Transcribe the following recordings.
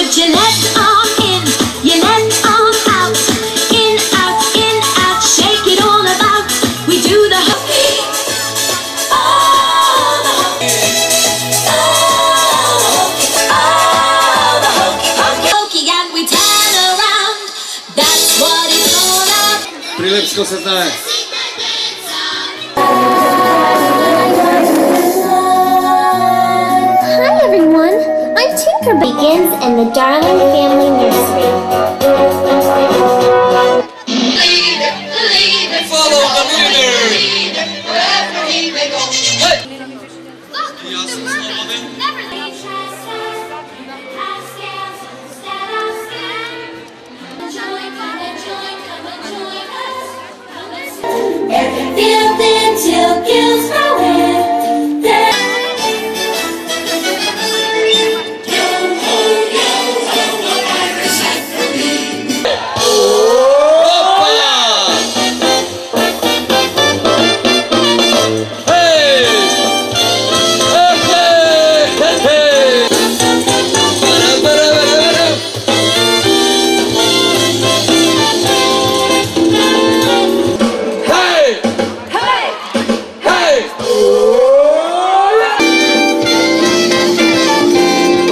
Put your left arm in, your left arm out. In, out, shake it all about. We do the hokey. Oh, the hokey. Oh, the hokey. Hokey, and we turn around. That's what it's all about. Прилепско се знае. Hi everyone, I'm Tinker Begins in the Darling Family Nursery. Follow the leader. Everything till kills nowhere.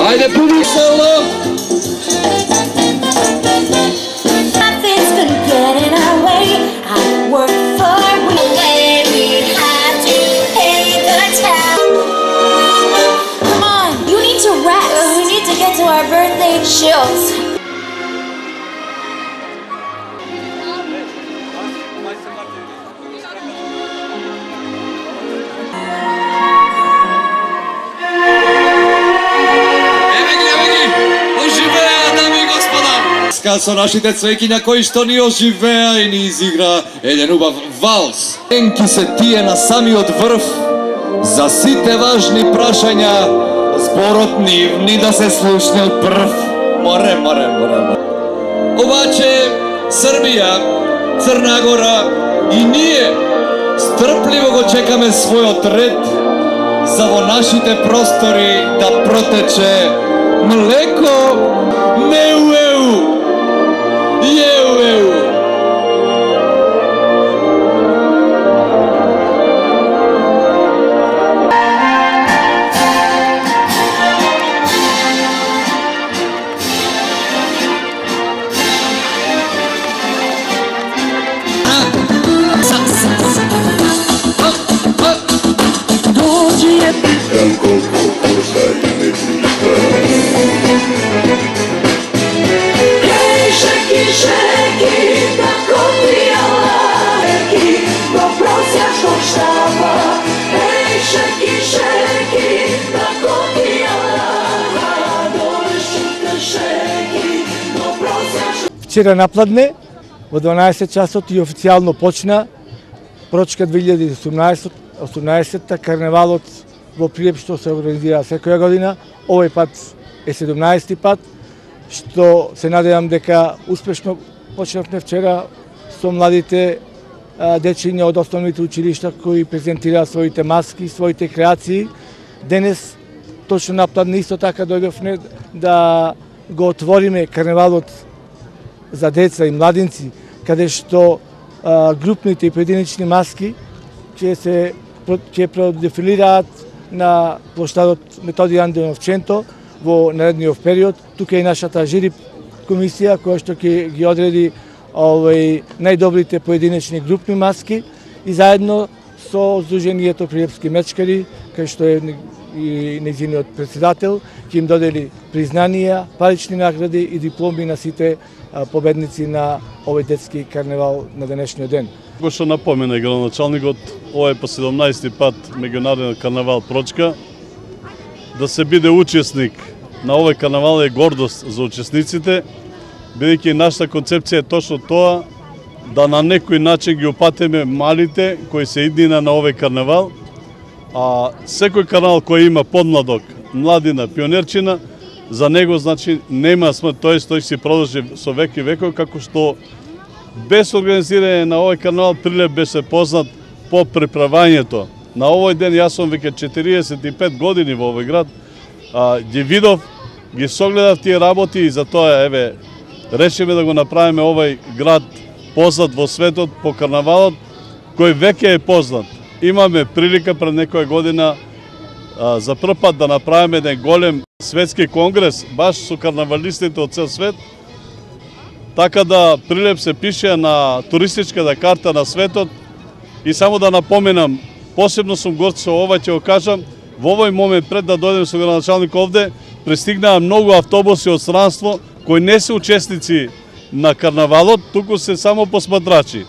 Ajde, puni solo! Nothing's gonna get in our way. I work for we have to pay the tab. Come on, you need to rest. We need to get to our birthday chills. Со нашите цвеќиња кои што ни оживеа и ни изигра еден убав валс. Енки се тие на самиот врв, за сите важни прашања, зборот нивни да се слушне од прв. Море. Обаче, Србија, Црна Гора и ние стрпливо го чекаме својот ред за во нашите простори да протече млеко неуеу. Вчера напладне, во 12 часот и официјално почна Прочка 2018-та карневалот во Прилеп што се организира секоја година. Овој пат е 17-ти пат, што се надевам дека успешно почнавме вчера со младите дечиња од основните училишта кои презентираа своите маски, своите креации. Денес, точно напладне, исто така дојдовме да го отвориме карневалот за деца и младинци, каде што групните и поединечни маски ќе продефилираат на плоштадот Методи Андонов Ченто во наредниот период. Тука е нашата жири комисија која што ќе ги одреди најдобрите поединечни групни маски и заедно со Сдруженијето Прилепски мечкари, кај што е и нејзиниот председател, ќе им додели признанија, парични награди и дипломи на сите победници на овој детски карневал на денешниот ден. Како што напомена градоначалникот, ова е по 17-ти пат меѓународен карневал Прочка. Да се биде учесник на овој карневал е гордост за учесниците, бидејќи нашата концепција е точно тоа, да на некој начин ги опатиме малите кои се иднина на овој карневал, а секој карневал кој има подмладок, младина, пионерчина, за него значи нема смрт, тој си продолжи со век и веков, како што без организирање на овој карневал Прилеп беше познат по приправањето. На овој ден јас сум веќе 45 години во овој град, ги видов ги согледав тие работи и затоа еве решиме да го направиме овој град познат во светот по карнавалот, кој веќе е познат. Имаме прилика пред некоја година за прв пат да направиме еден голем светски конгрес баш со карнавалистите од цел свет. Така да Прилеп се пише на туристичката карта на светот и само да напоменам, посебно сум горд со ова, ќе го кажам, во овој момент пред да дојдем со градоначалник овде, пристигнаа многу автобуси од странство кои не се учесници на карнавалот, туку се само посматрачи.